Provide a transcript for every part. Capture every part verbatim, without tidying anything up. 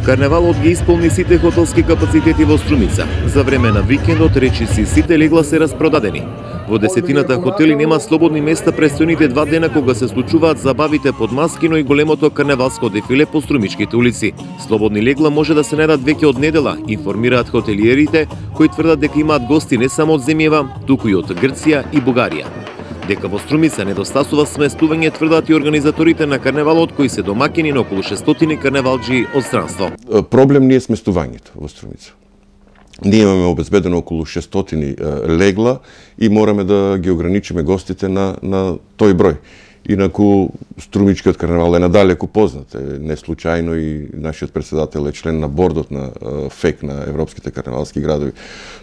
Карневалот ги исполни сите хотелски капацитети во Струмица. За време на викендот речиси сите легла се распродадени. Во десетината хотели нема слободни места престојните два дена кога се случуваат забавите под маски, но и големото карневалско дефиле по струмичките улици. Слободни легла може да се најдат веќе од недела, информираат хотелиерите, кои тврдат дека имаат гости не само од земјава, туку и од Грција и Бугарија. Дека во Струмица недостасува сместување тврдат и организаторите на карневалот, кои се домакини на околу шестстотини карневалџи од странство. Проблем не е сместувањето во Струмица. Ние имаме обезбедено околу шестстотини легла и мораме да ги ограничиме гостите на, на тој број. Инаку Струмичкиот карневал е надалеку познат. Не случајно и нашиот председател е член на бордот на ФЕК на Европските карневалски градови.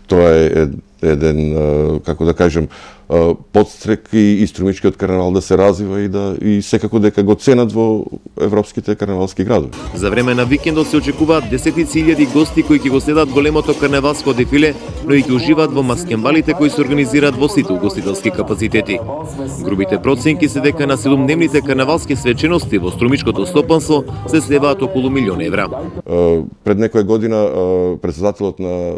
Тоа е еден, како да кажем, подстрек и, и Струмичкиот карневал да се развива и да и секако дека го ценат во европските карневалски градови. За време на викендот се очекуваат десетици илјади гости кои ќе го следат големото карневалско дефиле, но и ќе уживаат во маскенбалите кои се организираат во сите угостителски капацитети. Грубите проценки се дека на седумдневните карневалски свечености во Струмичкото стопанство се слеваат околу милион евра. Пред некоја година председателот на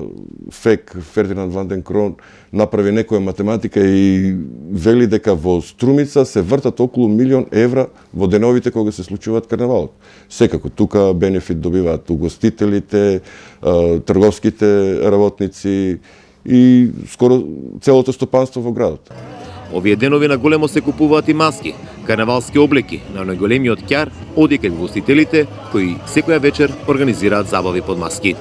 ФЕК Фердинанд ван ден Крон направи некоја математика и вели дека во Струмица се вртат околу милион евра во деновите кога се случуваат карневалот. Секако, тука бенефит добиваат угостителите, трговските работници и скоро целото стопанство во градот. Овие денови на големо се купуваат и маски, карневалски облеки на најголемиот ќар оди кај угостителите кои секоја вечер организираат забави под маски.